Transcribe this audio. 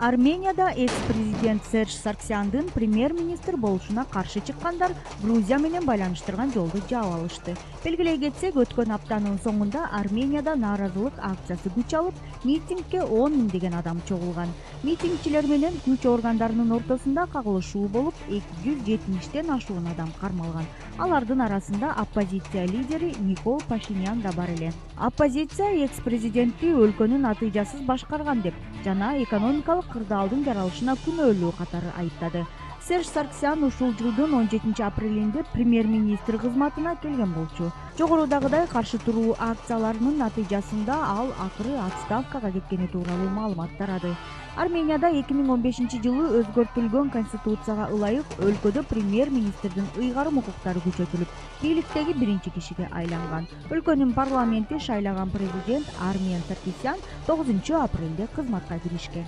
Арменияда экс-президент Серж Сарксяндын премьер-министр болушуна каршы чыккандар Грузия менен байланыштырган жолду жаап алышты. Белгилей кетсек, өткөн аптанын соңунда Арменияда нааразылык акциясы күч алып, митингге 10 миңдеген адам чогулган. Митингчилер менен күч органдарынын ортосунда кагылышуу болуп, 270тен ашуун адам кармалган. Алардын арасында оппозиция лидери Никол Пашинян да бар эле. Оппозиция экс-президентти өлкөнүн натыйжасыз башкарган деп жана экономикалык кырдаалдын жаралышына күнөөлүү катары айыптады. Серж Сарксян ушул жылдын 17 апрелинде премьер-министр кызматына келген болчу. Жогорудагыдай каршы туруу акцияларынын натыйжасында ал акыры отставкага кеткени тууралуу маалымат тарады. Арменияда 2015-жылы өзгөртүлгөн конституцияга ылайык өлкөдө премьер-министрдин ыйгарым укуктары күчөтүлүп, бийликтеги биринчи кишиге айланган. Өлкөнүн парламенти шайлаган президент Армен Саркисян 9 апрелде кызматка киришкен.